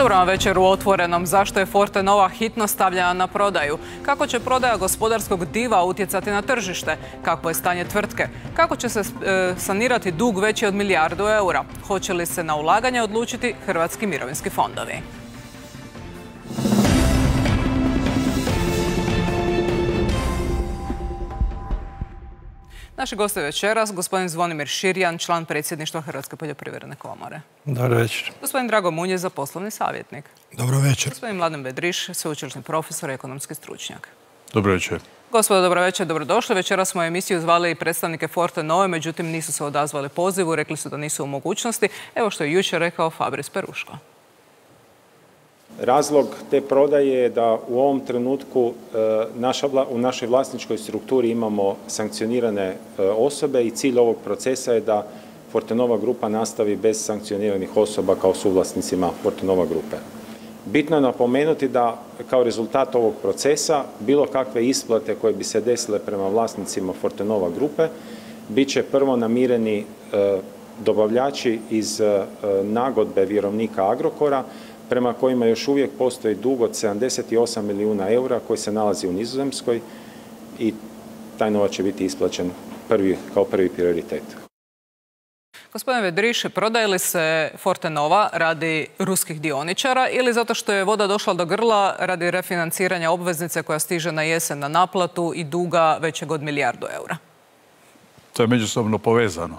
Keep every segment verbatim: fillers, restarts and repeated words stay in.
Dobro vam večer u Otvorenom. Zašto je Fortenova hitno stavljena na prodaju? Kako će prodaja gospodarskog diva utjecati na tržište? Kakvo je stanje tvrtke? Kako će se e, sanirati dug veći od milijardu eura? Hoće li se na ulaganje odlučiti hrvatski mirovinski fondovi? Naši gosti večeras, gospodin Zvonimir Širjan, član predsjedništva Hrvatske poljoprivredne komore. Dobro večer. Gospodin Drago Munjeza, poslovni savjetnik. Dobro večer. Gospodin Mladen Bedriš, sveučilišni profesor i ekonomski stručnjak. Dobro večer. Gospodo, dobro večer, dobrodošli. Večeras smo u emisiju zvali predstavnike Fortenove, međutim nisu se odazvali pozivu, rekli su da nisu u mogućnosti. Evo što je jučer rekao Fabris Peruško. Razlog te prodaje je da u ovom trenutku u našoj vlasničkoj strukturi imamo sankcionirane osobe i cilj ovog procesa je da Fortenova grupa nastavi bez sankcioniranih osoba kao suvlasnicima Fortenova grupe. Bitno je napomenuti da kao rezultat ovog procesa bilo kakve isplate koje bi se desile prema vlasnicima Fortenova grupe bit će prvo namireni dobavljači iz nagodbe vjerovnika Agrokora prema kojima još uvijek postoji dug od sedamdeset osam milijuna eura koji se nalazi u Nizozemskoj i taj novac će biti isplaćen prvi, kao prvi prioritet. Gospodine Vedriš, prodaje li se Fortenova radi ruskih dioničara ili zato što je voda došla do grla radi refinanciranja obveznice koja stiže na jesen na naplatu i duga većeg od milijardu eura? To je međusobno povezano.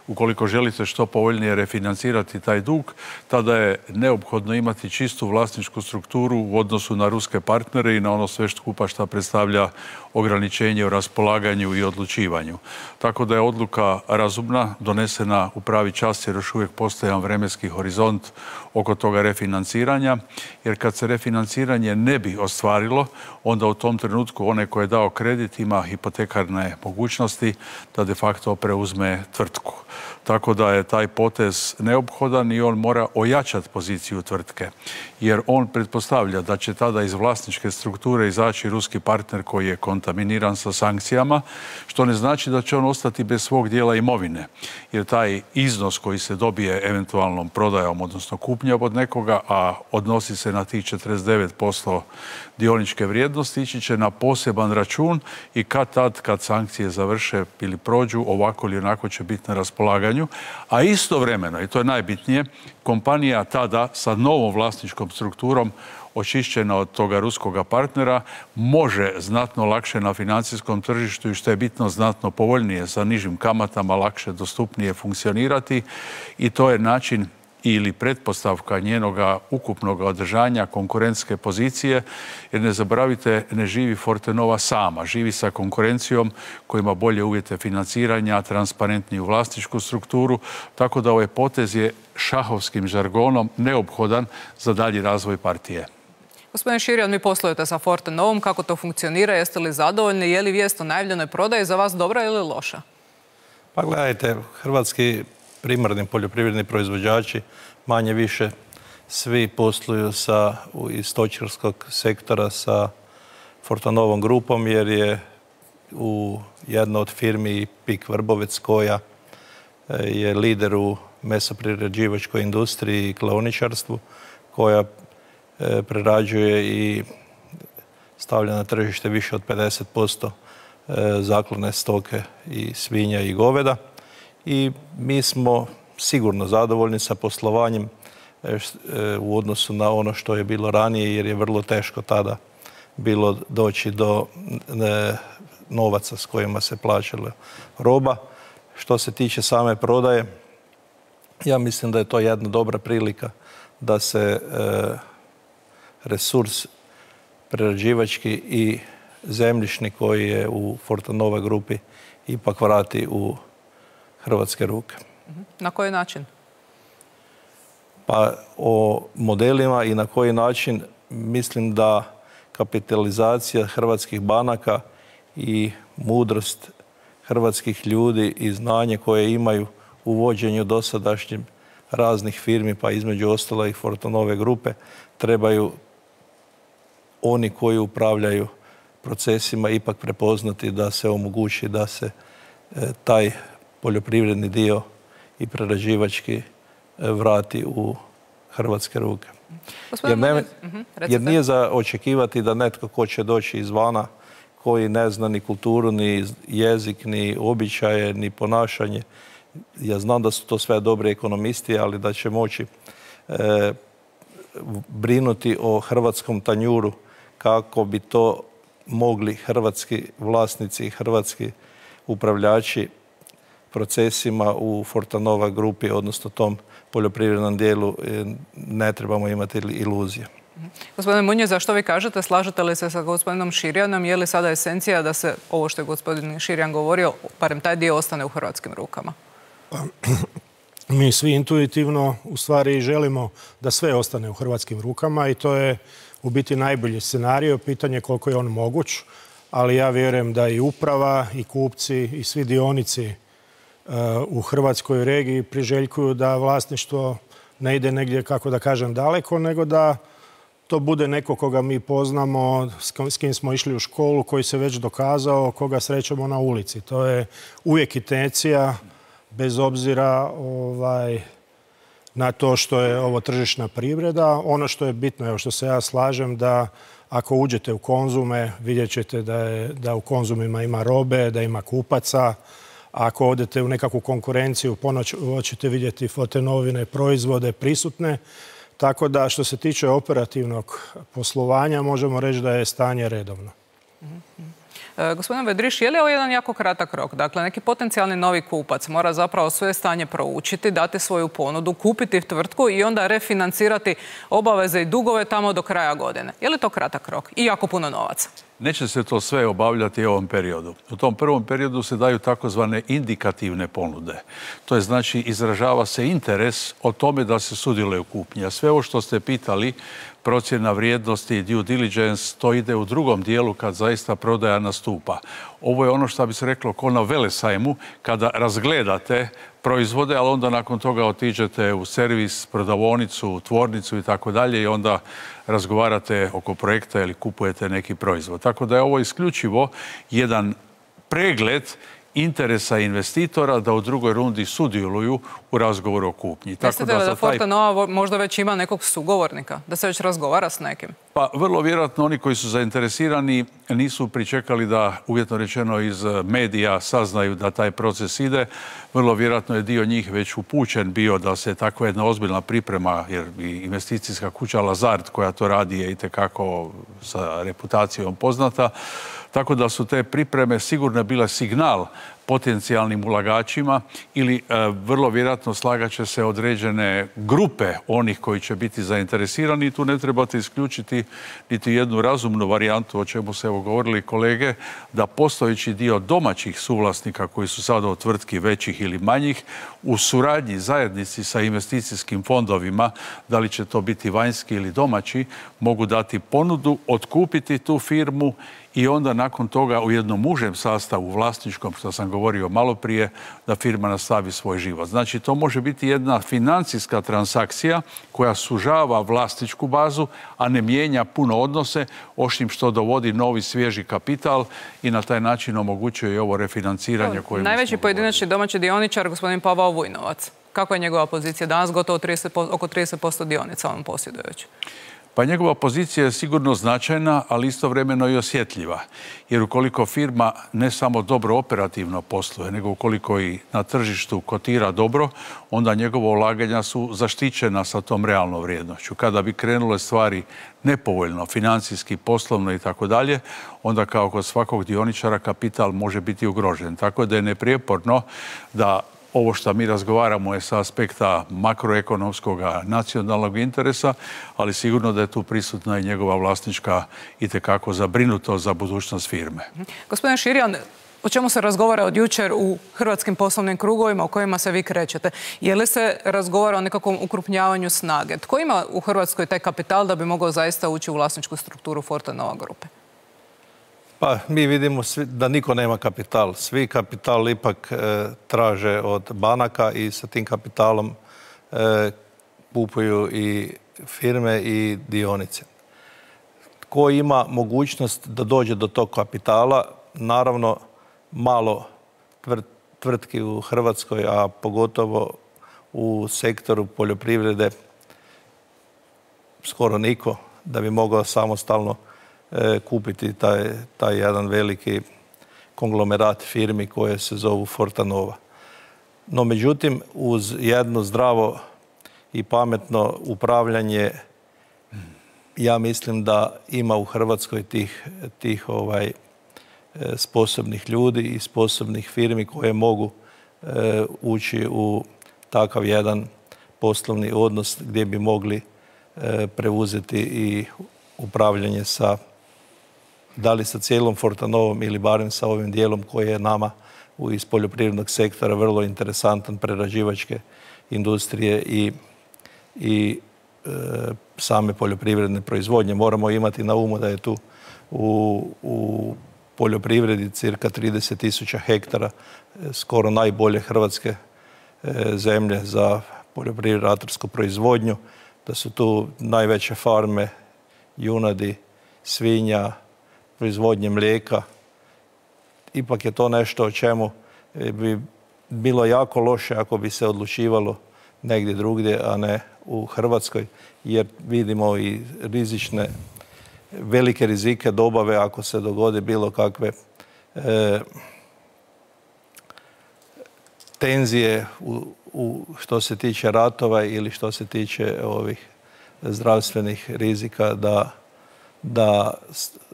Ukoliko želite što povoljnije refinancirati taj dug, tada je neophodno imati čistu vlasničku strukturu u odnosu na ruske partnere i na ono sve skupa što predstavlja ograničenje u raspolaganju i odlučivanju. Tako da je odluka razumna, donesena u pravi čas jer još uvijek postoji jedan vremenski horizont oko toga refinanciranja, jer kad se refinanciranje ne bi ostvarilo, onda u tom trenutku onaj koji je dao kredit ima hipotekarne mogućnosti da de facto preuzme tvrtku. Tako da je taj potez neophodan i on mora ojačati poziciju tvrtke, jer on pretpostavlja da će tada iz vlasničke strukture izaći ruski partner koji je kontaminiran sa sankcijama, što ne znači da će on ostati bez svog dijela imovine, jer taj iznos koji se dobije eventualnom prodajom, odnosno kupnjom od nekoga, a odnosi se na tih četrdeset devet posto dioničke vrijednosti, ići će na poseban račun i kad tad, kad sankcije završe ili prođu, ovako ili onako će biti na raspolaganju. A istovremeno, i to je najbitnije, kompanija tada sa novom vlasničkom strukturom očišćena od toga ruskoga partnera može znatno lakše na financijskom tržištu i što je bitno znatno povoljnije sa nižim kamatama lakše dostupnije funkcionirati i to je način ili pretpostavka njenoga ukupnog održanja konkurentske pozicije, jer ne zaboravite, ne živi Fortenova sama, živi sa konkurencijom koja ima bolje uvjete financiranja, transparentniju vlasničku strukturu, tako da ovaj potez je šahovskim žargonom neophodan za dalji razvoj partije. Gospodin Širjan, vi poslujete sa Fortenovom, kako to funkcionira, jeste li zadovoljni, je li vijest o najavljenoj prodaji za vas dobra ili loša? Pa gledajte, hrvatski primarni poljoprivredni proizvođači manje više svi posluju sa, iz stočarskog sektora sa Fortenovom grupom jer je u jedna od firmi Pik Vrbovec koja je lider u mesoprerađivačkoj industriji i klaoničarstvu koja prerađuje i stavlja na tržište više od pedeset posto zaklane stoke i svinja i goveda. I mi smo sigurno zadovoljni sa poslovanjem u odnosu na ono što je bilo ranije, jer je vrlo teško tada bilo doći do novaca s kojima se plaćala roba. Što se tiče same prodaje, ja mislim da je to jedna dobra prilika da se resurs prerađivački i zemljišni koji je u Fortenova grupi ipak vrati u hrvatske ruke. Na koji način? Pa o modelima i na koji način mislim da kapitalizacija hrvatskih banaka i mudrost hrvatskih ljudi i znanje koje imaju u vođenju dosadašnjim raznih firmi, pa između ostalo i Fortenove grupe, trebaju oni koji upravljaju procesima ipak prepoznati da se omogući da se taj poljoprivredni dio i prerađivački vrati u hrvatske ruke. Jer, ne, jer nije za očekivati da netko ko će doći izvana, koji ne zna ni kulturu, ni jezik, ni običaje, ni ponašanje. Ja znam da su to sve dobri ekonomisti, ali da će moći e, brinuti o hrvatskom tanjuru kako bi to mogli hrvatski vlasnici i hrvatski upravljači procesima u Fortanova grupi, odnosno tom poljoprivrednom dijelu, ne trebamo imati iluzije. Gospodine Munje, zašto vi kažete, slažete li se sa gospodinom Širjanom, je li sada esencija da se ovo što je gospodin Širjan govorio, barem taj dio ostane u hrvatskim rukama? Mi svi intuitivno u stvari želimo da sve ostane u hrvatskim rukama i to je u biti najbolji scenario, pitanje koliko je on moguć, ali ja vjerujem da i uprava i kupci i svi dionici u hrvatskoj regiji priželjkuju da vlasništvo ne ide negdje, kako da kažem, daleko, nego da to bude neko koga mi poznamo, s kim smo išli u školu, koji se već dokazao, koga srećemo na ulici. To je uvijek intencija, bez obzira ovaj, na to što je ovo tržišna privreda. Ono što je bitno, evo što se ja slažem, da ako uđete u Konzume, vidjet ćete da, je, da u Konzumima ima robe, da ima kupaca. Ako odete u nekakvu konkurenciju, ponoć ćete vidjeti Fortenovine proizvode prisutne. Tako da što se tiče operativnog poslovanja, možemo reći da je stanje redovno. Mm-hmm. E, gospodin Vedriš, je li ovo jedan jako kratak rok? Dakle, neki potencijalni novi kupac mora zapravo svoje stanje proučiti, dati svoju ponudu, kupiti tvrtku i onda refinancirati obaveze i dugove tamo do kraja godine. Je li to kratak rok i jako puno novaca? Neće se to sve obavljati u ovom periodu. U tom prvom periodu se daju takozvane indikativne ponude. To je znači izražava se interes o tome da se sudjeluje u kupnji. A sve ovo što ste pitali, procjena vrijednosti, due diligence, to ide u drugom dijelu kad zaista prodaja nastupa. Ovo je ono što bi se reklo ko na velesajmu, kada razgledate proizvode, ali onda nakon toga otiđete u servis, prodavonicu, u tvornicu i tako dalje i onda razgovarate oko projekta ili kupujete neki proizvod. Tako da je ovo isključivo jedan pregled interesa investitora da u drugoj rundi sudjeluju u razgovoru o kupnji. Mislite da, da, da Fortenova taj... možda već ima nekog sugovornika, da se već razgovara s nekim? Pa vrlo vjerojatno oni koji su zainteresirani nisu pričekali da, uvjetno rečeno, iz medija saznaju da taj proces ide. Vrlo vjerojatno je dio njih već upućen bio da se takva jedna ozbiljna priprema, jer i investicijska kuća Lazard koja to radi je itekako sa reputacijom poznata. Tako da su te pripreme sigurno bile signal potencijalnim ulagačima ili e, vrlo vjerojatno slagat će se određene grupe onih koji će biti zainteresirani i tu ne trebate isključiti niti jednu razumnu varijantu o čemu se evo govorili kolege, da postojeći dio domaćih suvlasnika koji su sada od tvrtki većih ili manjih u suradnji zajednici sa investicijskim fondovima, da li će to biti vanjski ili domaći, mogu dati ponudu, otkupiti tu firmu i onda nakon toga u jednom užem sastavu vlasničkom, što sam govorio malo prije, da firma nastavi svoj život. Znači, to može biti jedna financijska transakcija koja sužava vlasničku bazu, a ne mijenja puno odnose, osim što dovodi novi svježi kapital i na taj način omogućuje i ovo refinanciranje koje... Najveći pojedinačni domaći dioničar, gospodin Pavao Vujnovac. Kako je njegova pozicija? Danas gotovo trideset, oko trideset posto dionica on posjeduje već. Pa njegova pozicija je sigurno značajna, ali istovremeno i osjetljiva. Jer ukoliko firma ne samo dobro operativno posluje, nego ukoliko i na tržištu kotira dobro, onda njegova ulaganja su zaštićena sa tom realnom vrijednošću. Kada bi krenule stvari nepovoljno, financijski, poslovno i tako dalje, onda kao kod svakog dioničara kapital može biti ugrožen. Tako da je neprijeporno da ovo što mi razgovaramo je sa aspekta makroekonomskog nacionalnog interesa, ali sigurno da je tu prisutna i njegova vlasnička itekako zabrinutost za budućnost firme. Gospodine Širjan, o čemu se razgovara od jučer u hrvatskim poslovnim krugovima u kojima se vi krećete? Je li se razgovara o nekakvom ukrupnjavanju snage? Tko ima u Hrvatskoj taj kapital da bi mogao zaista ući u vlasničku strukturu Fortenova grupe? Pa mi vidimo svi, da niko nema kapital. Svi kapital ipak e, traže od banaka i sa tim kapitalom e, kupuju i firme i dionice. Ko ima mogućnost da dođe do tog kapitala, naravno malo tvrtki u Hrvatskoj, a pogotovo u sektoru poljoprivrede, skoro niko da bi mogao samostalno kupiti taj, taj jedan veliki konglomerat firmi koje se zovu Fortenova. No, međutim, uz jedno zdravo i pametno upravljanje, ja mislim da ima u Hrvatskoj tih, tih ovaj, sposobnih ljudi i sposobnih firmi koje mogu e, ući u takav jedan poslovni odnos gdje bi mogli e, preuzeti i upravljanje sa, da li sa cijelom Fortenovom ili barem sa ovim dijelom koji je nama iz poljoprivrednog sektora vrlo interesantan, prerađivačke industrije i, i e, same poljoprivredne proizvodnje. Moramo imati na umu da je tu u, u poljoprivredi cirka trideset tisuća hektara, skoro najbolje hrvatske e, zemlje za poljoprivrednu ratarsku proizvodnju, da su tu najveće farme junadi, svinja, proizvodnje mlijeka. Ipak je to nešto o čemu bi bilo jako loše ako bi se odlučivalo negdje drugdje, a ne u Hrvatskoj, jer vidimo i rizične, velike rizike dobave ako se dogodi bilo kakve e, tenzije u, u što se tiče ratova ili što se tiče ovih zdravstvenih rizika, da, da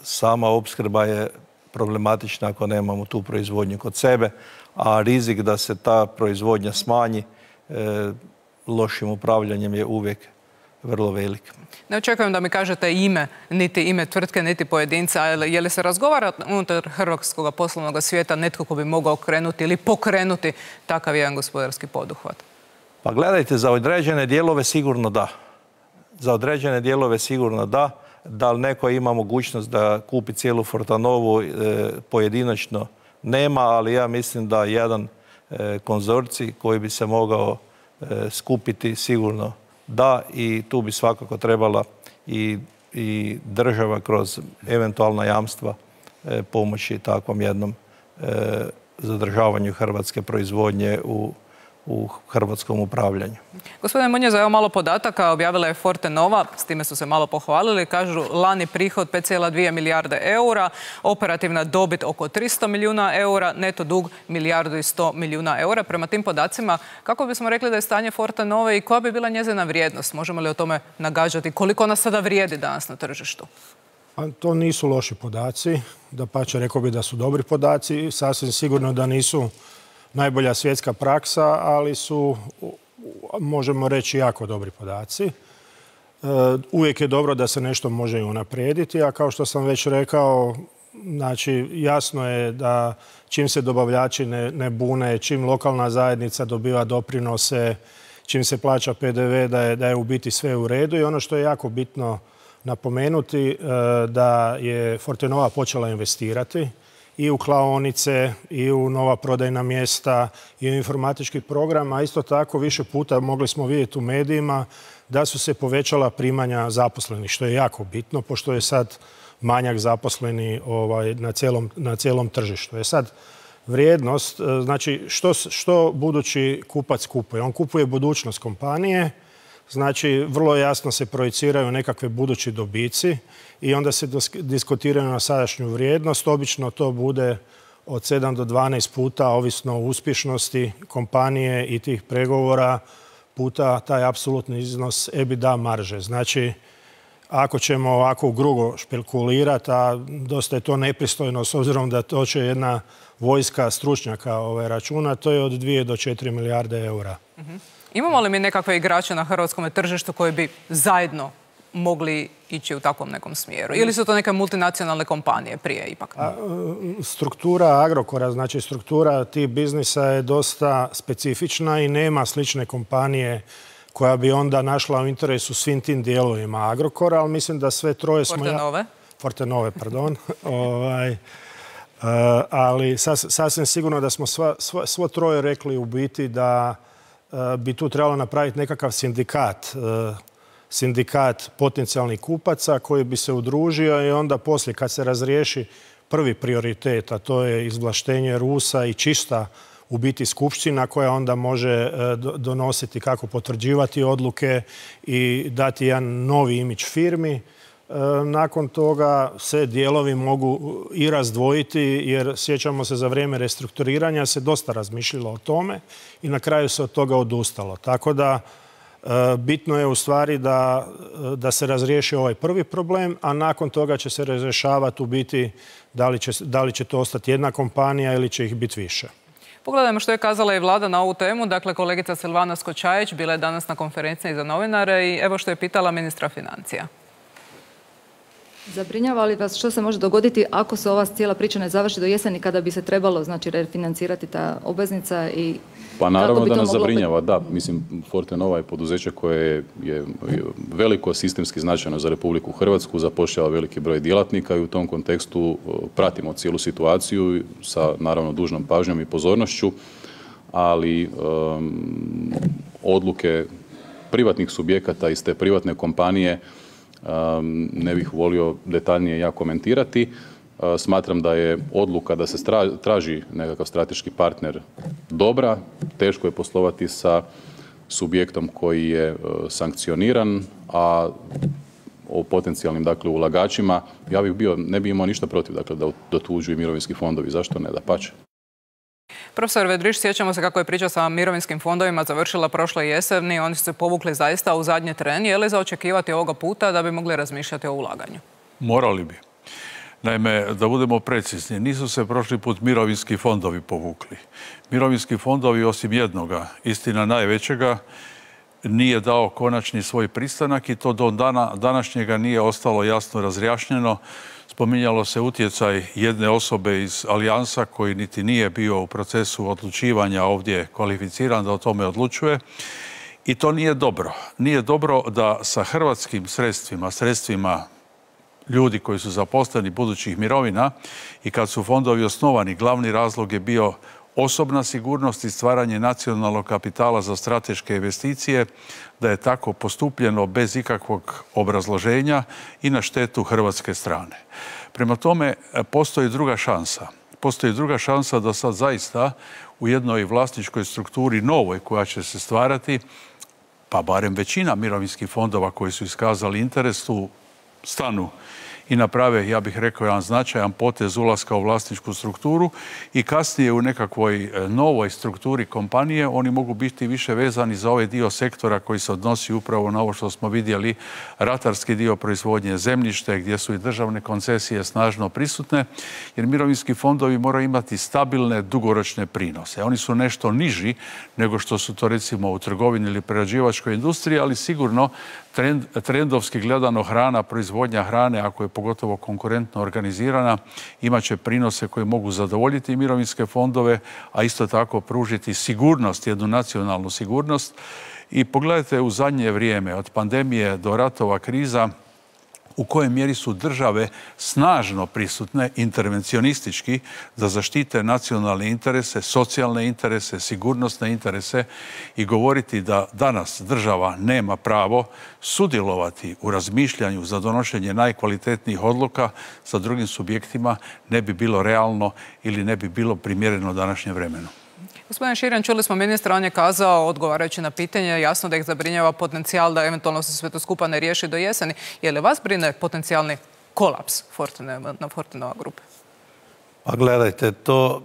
sama opskrba je problematična ako nemamo tu proizvodnju kod sebe, a rizik da se ta proizvodnja smanji e, lošim upravljanjem je uvijek vrlo velik. Ne očekujem da mi kažete ime, niti ime tvrtke, niti pojedinca, ali je li se razgovara unutar hrvatskog poslovnog svijeta netko ko bi mogao krenuti ili pokrenuti takav jedan gospodarski poduhvat? Pa gledajte, za određene dijelove sigurno da. Za određene dijelove sigurno da. Da li neko ima mogućnost da kupi cijelu Fortenovu e, pojedinačno nema, ali ja mislim da jedan e, konzorcij koji bi se mogao e, skupiti sigurno da, i tu bi svakako trebala i, i država kroz eventualna jamstva e, pomoći takvom jednom e, zadržavanju hrvatske proizvodnje u u hrvatskom upravljanju. Gospodine Munjeza, evo malo podataka. Objavila je Fortenova, s time su se malo pohvalili. Kažu lani prihod pet zarez dvije milijarde eura, operativna dobit oko tristo milijuna eura, neto dug milijardu i sto milijuna eura. Prema tim podacima, kako bismo rekli da je stanje Fortenove i koja bi bila njezina vrijednost? Možemo li o tome nagađati? Koliko ona sada vrijedi danas na tržištu? A to nisu loši podaci. Dapače, rekao bi da su dobri podaci. Sasvim sigurno da nisu najbolja svjetska praksa, ali su, možemo reći, jako dobri podaci. Uvijek je dobro da se nešto može i unaprijediti, a kao što sam već rekao, znači, jasno je da čim se dobavljači ne, ne bune, čim lokalna zajednica dobiva doprinose, čim se plaća P D V, da je, da je u biti sve u redu. I ono što je jako bitno napomenuti, da je Fortenova počela investirati i u klaonice, i u nova prodajna mjesta, i u informatički program, a isto tako više puta mogli smo vidjeti u medijima da su se povećala primanja zaposlenih, što je jako bitno, pošto je sad manjak zaposleni ovaj, na, cijelom, na cijelom tržištu. Je sad vrijednost, znači što, što budući kupac kupuje? On kupuje budućnost kompanije, znači vrlo jasno se projiciraju nekakve budući dobici i onda se diskutiraju na sadašnju vrijednost. Obično to bude od sedam do dvanaest puta, ovisno o uspješnosti kompanije i tih pregovora, puta taj apsolutni iznos EBITDA marže. Znači, ako ćemo ovako grubo špekulirati, a dosta je to nepristojno s obzirom da to će jedna vojska stručnjaka ove računa, to je od dvije do četiri milijarde eura. Uh-huh. Imamo li mi nekakve igrače na hrvatskom tržištu koji bi zajedno mogli ići u takvom nekom smjeru? Ili su to neke multinacionalne kompanije prije ipak? A, struktura Agrokora, znači struktura tih biznisa je dosta specifična i nema slične kompanije koja bi onda našla u interesu svim tim dijelovima Agrokora, ali mislim da sve troje smo... Fortenove? Ja... Fortenove, pardon. ovaj, uh, ali sas, sasvim sigurno da smo sva, sva, svo troje rekli u biti da uh, bi tu trebalo napraviti nekakav sindikat, uh, sindikat potencijalnih kupaca koji bi se udružio i onda poslije kad se razriješi prvi prioritet, a to je izvlaštenje Rusa i čista u biti skupština koja onda može donositi kako potvrđivati odluke i dati jedan novi imidž firmi. Nakon toga se dijelovi mogu i razdvojiti jer sjećamo se za vrijeme restrukturiranja se dosta razmišljalo o tome i na kraju se od toga odustalo. Tako da bitno je u stvari da, da se razriješi ovaj prvi problem, a nakon toga će se razrješavati u biti da li će, da li će to ostati jedna kompanija ili će ih biti više. Pogledajmo što je kazala i vlada na ovu temu. Dakle, kolegica Silvana Skočajić bila je danas na konferenciji za novinare i evo što je pitala ministra financija. Zabrinjava li vas što se može dogoditi ako se ova cijela priča ne završi do jeseni kada bi se trebalo znači refinancirati ta obveznica i pa naravno da nas zabrinjava, da. Mislim, Fortenova je poduzeće koje je veliko sistemski značajno za Republiku Hrvatsku, zapošljava veliki broj djelatnika i u tom kontekstu pratimo cijelu situaciju sa naravno dužnom pažnjom i pozornošću, ali um, odluke privatnih subjekata iz te privatne kompanije um, ne bih volio detaljnije ja komentirati. Smatram da je odluka da se traži nekakav strateški partner dobra. Teško je poslovati sa subjektom koji je sankcioniran, a o potencijalnim dakle, ulagačima ja bih bio, ne bih imao ništa protiv dakle, da dotuđuju mirovinski fondovi. Zašto ne? Dapače. Profesor Vedriš, sjećamo se kako je priča sa mirovinskim fondovima završila prošle jeseni. Oni su se povukli zaista u zadnji tren. Je li za očekivati ovoga puta da bi mogli razmišljati o ulaganju? Morali bi. Naime, da budemo precizni, nisu se prošli put mirovinski fondovi povukli. Mirovinski fondovi, osim jednoga, istina najvećega, nije dao konačni svoj pristanak i to do dana današnjega nije ostalo jasno razrjašnjeno. Spominjalo se utjecaj jedne osobe iz Alijansa koji niti nije bio u procesu odlučivanja ovdje kvalificiran da o tome odlučuje. I to nije dobro. Nije dobro da sa hrvatskim sredstvima, sredstvima ljudi koji su zaposleni budućih mirovina i kad su fondovi osnovani, glavni razlog je bio osobna sigurnost i stvaranje nacionalnog kapitala za strateške investicije, da je tako postupljeno bez ikakvog obrazloženja i na štetu hrvatske strane. Prema tome, postoji druga šansa. Postoji druga šansa da sad zaista u jednoj vlasničkoj strukturi novoj koja će se stvarati, pa barem većina mirovinskih fondova koji su iskazali interes tu stanu i naprave, ja bih rekao, jedan značajan potez ulaska u vlasničku strukturu i kasnije u nekakvoj novoj strukturi kompanije oni mogu biti više vezani za ovaj dio sektora koji se odnosi upravo na ovo što smo vidjeli, ratarski dio proizvodnje zemljište gdje su i državne koncesije snažno prisutne, jer mirovinski fondovi moraju imati stabilne dugoročne prinose. Oni su nešto niži nego što su to recimo u trgovini ili prerađivačkoj industriji, ali sigurno trend, trendovski gledano hrana, proizvodnja hrane, ako je pogotovo konkurentno organizirana, imat će prinose koje mogu zadovoljiti mirovinske fondove, a isto tako pružiti sigurnost, jednu nacionalnu sigurnost. I pogledajte u zadnje vrijeme, od pandemije do ratova, kriza, u kojoj mjeri su države snažno prisutne, intervencionistički, da zaštite nacionalne interese, socijalne interese, sigurnosne interese i govoriti da danas država nema pravo sudjelovati u razmišljanju za donošenje najkvalitetnijih odluka sa drugim subjektima ne bi bilo realno ili ne bi bilo primjereno današnjem vremenu. Gospodine Širan, čuli smo ministra, on je kazao, odgovarajući na pitanje, jasno da ih zabrinjava potencijal da eventualno se sve to skupa ne riješi do jeseni. Je li vas brine potencijalni kolaps na Fortenova grupe? Pa gledajte, to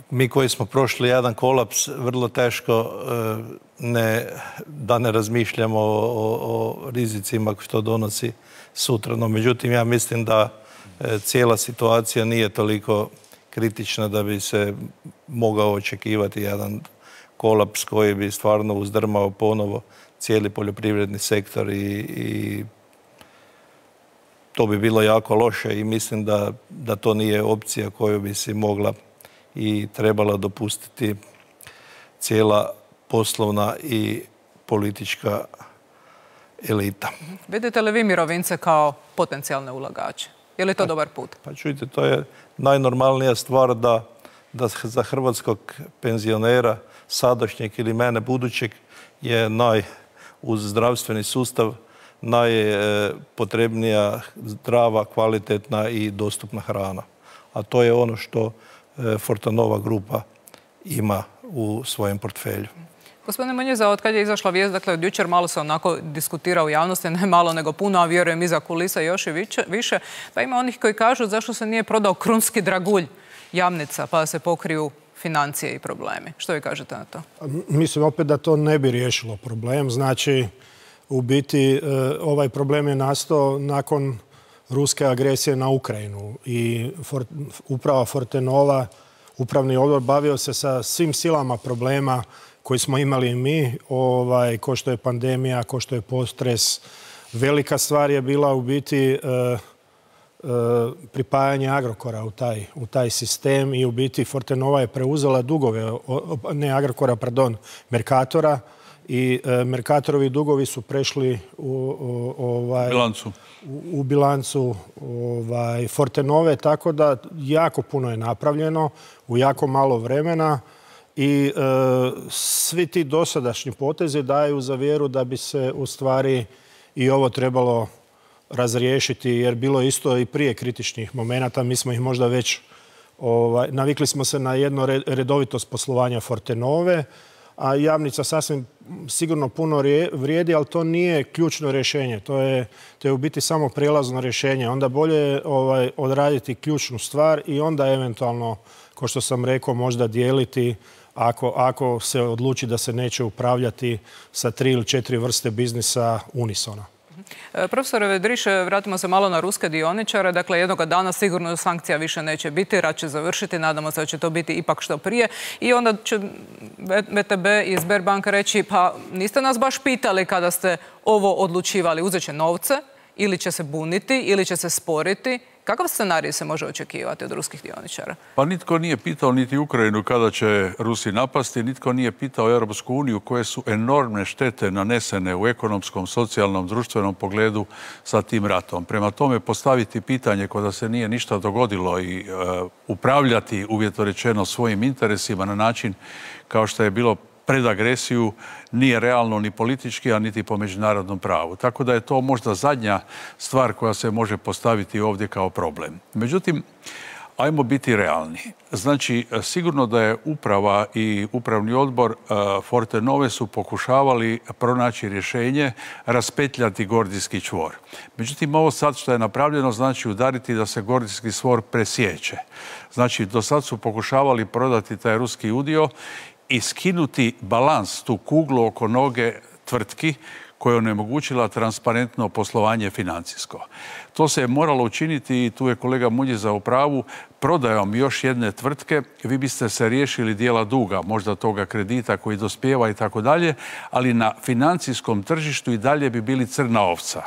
mi koji smo prošli jedan kolaps, vrlo teško ne, da ne razmišljamo o, o, o rizicima što donosi sutra. No, međutim, ja mislim da cijela situacija nije toliko kritična da bi se mogao očekivati jedan kolaps koji bi stvarno uzdrmao ponovo cijeli poljoprivredni sektor i, i to bi bilo jako loše i mislim da, da to nije opcija koju bi si mogla i trebala dopustiti cijela poslovna i politička elita. Vidite li vi mirovince kao potencijalne ulagače? Je li to dobar put? Pa čujte, to je najnormalnija stvar da, da za hrvatskog penzionera, sadašnjeg ili mene budućeg, je naj, uz zdravstveni sustav najpotrebnija zdrava, kvalitetna i dostupna hrana. A to je ono što Fortenova grupa ima u svojem portfelju. Gospodine Munjiza, od kad je izašla vijest, dakle od jučer malo se onako diskutira u javnosti, ne malo nego puno, a vjerujem iza kulisa još i više, pa ima onih koji kažu zašto se nije prodao krunski dragulj Jamnica pa da se pokriju financije i problemi. Što vi kažete na to? Mislim opet da to ne bi riješilo problem. Znači, u biti ovaj problem je nastao nakon ruske agresije na Ukrajinu i uprava Fortenova, upravni odbor, bavio se sa svim silama problema koji smo imali i mi, ovaj, ko što je pandemija, ko što je potres. Velika stvar je bila u biti e, e, pripajanje Agrokora u taj, u taj sistem i u biti Fortenova je preuzela dugove, ne Agrokora, pardon, Mercatora i e, Mercatorovi dugovi su prešli u, u, ovaj, bilancu. u, u bilancu ovaj, Fortenove, tako da jako puno je napravljeno u jako malo vremena. I e, svi ti dosadašnji potezi daju za vjeru da bi se u stvari i ovo trebalo razriješiti, jer bilo je isto i prije kritičnih momenata. Mi smo ih možda već, ovaj, navikli smo se na jedno redovitost poslovanja Fortenove, a Jamnica sasvim sigurno puno vrijedi, ali to nije ključno rješenje. To je, to je u biti samo prijelazno rješenje. Onda bolje ovaj, odraditi ključnu stvar i onda eventualno, kao što sam rekao, možda dijeliti Ako, ako se odluči da se neće upravljati sa tri ili četiri vrste biznisa unisona. Profesore Vedriše, vratimo se malo na ruske dioničare. Dakle, jednoga dana sigurno sankcija više neće biti, rat će završiti, nadamo se da će to biti ipak što prije. I onda će V T B i Sberbank reći, pa niste nas baš pitali kada ste ovo odlučivali, uzet će novce, ili će se buniti, ili će se sporiti. Kakav scenarij se može očekivati od ruskih dioničara? Pa nitko nije pitao niti Ukrajinu kada će Rusi napasti, nitko nije pitao Europsku uniju koje su enormne štete nanesene u ekonomskom, socijalnom, društvenom pogledu sa tim ratom. Prema tome postaviti pitanje kada se nije ništa dogodilo i uh, upravljati uvjetno rečeno svojim interesima na način kao što je bilo pred agresiju nije realno ni politički, a niti po međunarodnom pravu. Tako da je to možda zadnja stvar koja se može postaviti ovdje kao problem. Međutim, ajmo biti realni. Znači, sigurno da je uprava i upravni odbor Fortenove su pokušavali pronaći rješenje, raspetljati gordijski čvor. Međutim, ovo sad što je napravljeno znači udariti da se gordijski čvor presjeće. Znači, do sad su pokušavali prodati taj ruski udio i skinuti balans, tu kuglu oko noge tvrtki koja je onemogućila transparentno poslovanje financijsko. To se je moralo učiniti i tu je kolega Munjiza u pravu, prodajom još jedne tvrtke vi biste se riješili dijela duga, možda toga kredita koji dospijeva i tako dalje, ali na financijskom tržištu i dalje bi bili crna ovca.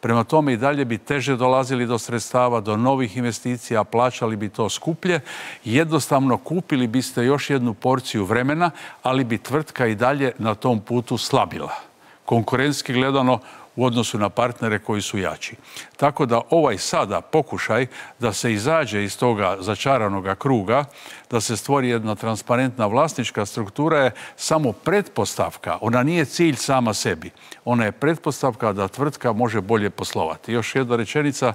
Prema tome i dalje bi teže dolazili do sredstava, do novih investicija, plaćali bi to skuplje. Jednostavno kupili biste još jednu porciju vremena, ali bi tvrtka i dalje na tom putu slabila. Konkurentski gledano u odnosu na partnere koji su jači. Tako da ovaj sada pokušaj da se izađe iz toga začaranoga kruga, da se stvori jedna transparentna vlasnička struktura je samo pretpostavka. Ona nije cilj sama sebi. Ona je pretpostavka da tvrtka može bolje poslovati. Još jedna rečenica,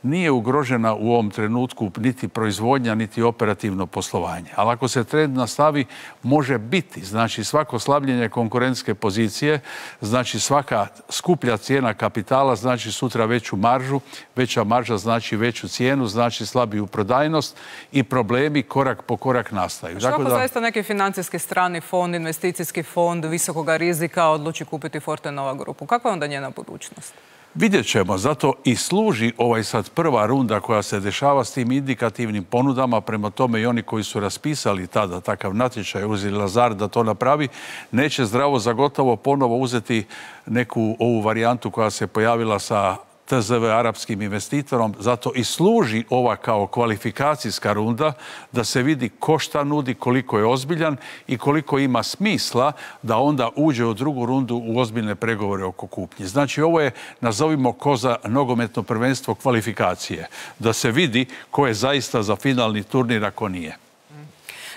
nije ugrožena u ovom trenutku niti proizvodnja, niti operativno poslovanje. Ali ako se trend nastavi, može biti. Znači svako slabljenje konkurentske pozicije, znači svaka skuplja cijena kapitala, znači sutra veću maržu, veća marža znači veću cijenu, znači slabiju prodajnost i problemi korak po korak nastaju. Što ako zaista neki financijski strani fond, investicijski fond visokog rizika odluči kupiti Fortenova grupu? Kakva je onda njena budućnost? Vidjet ćemo, zato i služi ovaj sad prva runda koja se dešava s tim indikativnim ponudama, prema tome i oni koji su raspisali tada takav natječaj, uzeli Lazard da to napravi, neće zdravo za gotovo ponovo uzeti neku ovu varijantu koja se pojavila sa T Z V arapskim investitorom, zato i služi ova kao kvalifikacijska runda da se vidi ko šta nudi, koliko je ozbiljan i koliko ima smisla da onda uđe u drugu rundu u ozbiljne pregovore oko kupnje. Znači ovo je, nazovimo ko za nogometno prvenstvo kvalifikacije, da se vidi ko je zaista za finalni turnir, ako nije.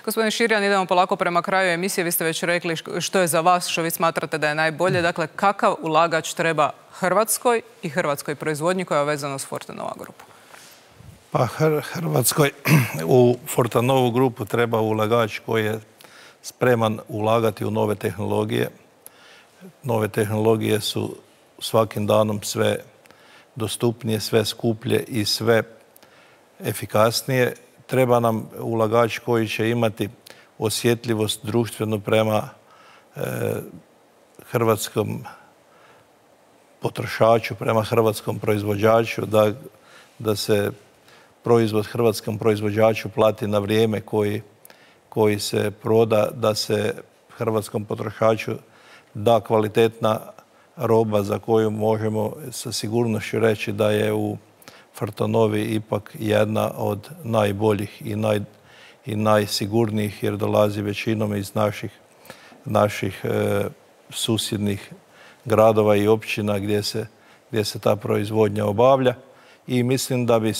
Gospodin Širjan, idemo polako prema kraju emisije. Vi ste već rekli što je za vas, što vi smatrate da je najbolje. Dakle, kakav ulagač treba Hrvatskoj i hrvatskoj proizvodnji koja je vezana s Fortenova grupu? Pa Hrvatskoj u Fortenovu grupu treba ulagač koji je spreman ulagati u nove tehnologije. Nove tehnologije su svakim danom sve dostupnije, sve skuplje i sve efikasnije. Treba nam ulagač koji će imati osjetljivost društvenu prema e, hrvatskom potrošaču, prema hrvatskom proizvođaču, da, da se proizvod hrvatskom proizvođaču plati na vrijeme koji, koji se proda, da se hrvatskom potrošaču da kvalitetna roba za koju možemo sa sigurnošću reći da je u Fortenovi ipak jedna od najboljih i, naj, i najsigurnijih, jer dolazi većinom iz naših, naših e, susjednih gradova i općina gdje se, gdje se ta proizvodnja obavlja. I mislim da bi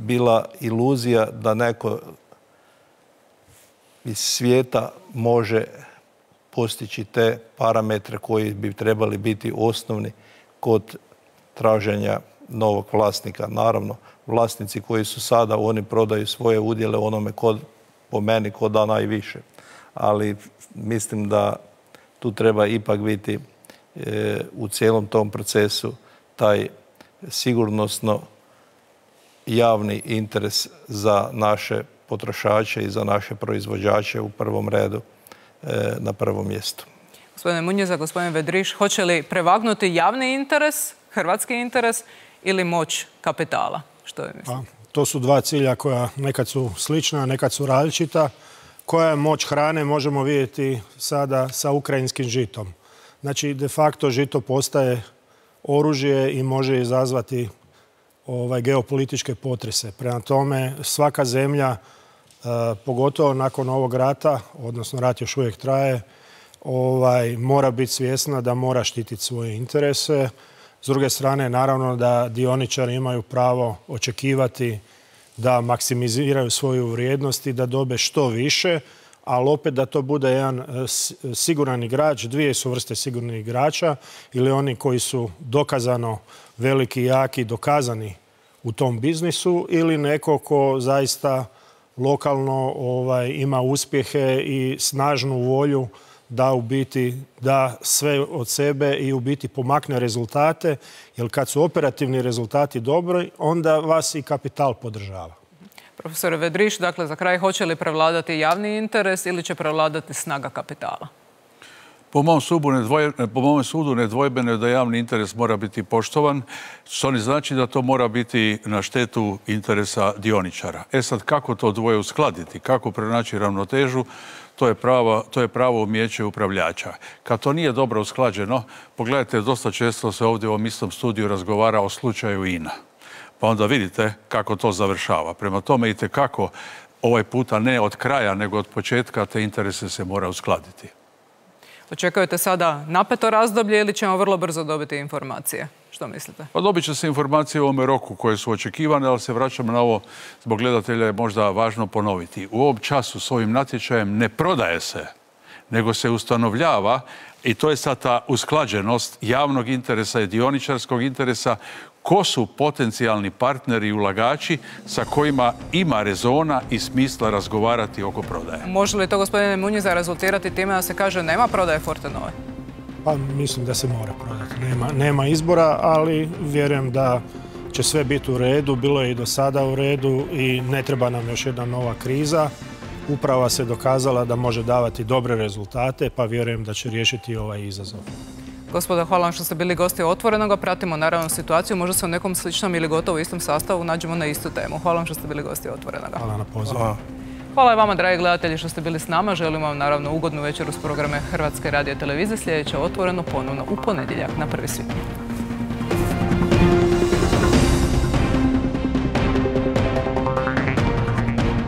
bila iluzija da neko iz svijeta može postići te parametre koji bi trebali biti osnovni kod traženja novog vlasnika. Naravno, vlasnici koji su sada, oni prodaju svoje udjele onome kod, po meni ko da najviše. Ali mislim da tu treba ipak biti e, u cijelom tom procesu taj sigurnosno javni interes za naše potrošače i za naše proizvođače u prvom redu e, na prvom mjestu. Gospodine Munjeza, gospodine Vedriš, hoće li prevagnuti javni interes, hrvatski interes ili moć kapitala? Što je mislite? To su dva cilja koja nekad su slična, nekad su različita. Koja je moć hrane možemo vidjeti sada sa ukrajinskim žitom. Znači, de facto žito postaje oružje i može izazvati ovaj, geopolitičke potrese. Prema tome, svaka zemlja, e, pogotovo nakon ovog rata, odnosno rat još uvijek traje, ovaj, mora biti svjesna da mora štititi svoje interese. S druge strane, naravno da dioničari imaju pravo očekivati da maksimiziraju svoju vrijednost i da dobe što više, ali opet da to bude jedan siguran igrač. Dvije su vrste sigurnih igrača, ili oni koji su dokazano veliki, jaki, dokazani u tom biznisu, ili neko ko zaista lokalno ovaj, ima uspjehe i snažnu volju da u biti da sve od sebe i u biti pomakne rezultate, jer kad su operativni rezultati dobri, onda vas i kapital podržava. Profesore Vedriš, dakle, za kraj, hoće li prevladati javni interes ili će prevladati snaga kapitala? Po mom, sudu nedvoj, po mom sudu nedvojbeno je da javni interes mora biti poštovan, što ne znači da to mora biti na štetu interesa dioničara. E sad, kako to dvoje uskladiti, kako pronaći ravnotežu, to je pravo, to je pravo umijeće upravljača. Kad to nije dobro usklađeno, pogledajte, dosta često se ovdje u ovom istom studiju razgovara o slučaju I N A. Pa onda vidite kako to završava. Prema tome, itekako ovaj puta ne od kraja, nego od početka te interese se mora uskladiti. Očekujete sada napeto razdoblje ili ćemo vrlo brzo dobiti informacije? Što mislite? Pa dobit će se informacije u ovome roku koje su očekivane, ali se vraćamo na ovo, zbog gledatelja je možda važno ponoviti. U ovom času s ovim natječajem ne prodaje se, nego se ustanovljava, i to je sad ta usklađenost javnog interesa i dioničarskog interesa, ko su potencijalni partneri i ulagači sa kojima ima rezona i smisla razgovarati oko prodaje. Može li to, gospodine Munjeza, rezultirati time da se kaže nema prodaje Fortenove? Pa mislim da se mora prodati. Nema, nema izbora, ali vjerujem da će sve biti u redu. Bilo je i do sada u redu i ne treba nam još jedna nova kriza. Uprava se dokazala da može davati dobre rezultate, pa vjerujem da će riješiti ovaj izazov. Gospodo, hvala vam što ste bili gosti Otvorenoga. Pratimo naravno situaciju. Možda se u nekom sličnom ili gotovo istom sastavu nađemo na istu temu. Hvala vam što ste bili gosti Otvorenoga. Hvala na pozivu. Hvala i vama, dragi gledatelji, što ste bili s nama. Želim vam naravno ugodnu večeru s programe Hrvatske radio televizije. Sljedeće Otvoreno ponovno u ponedjeljak na prvi svibnja.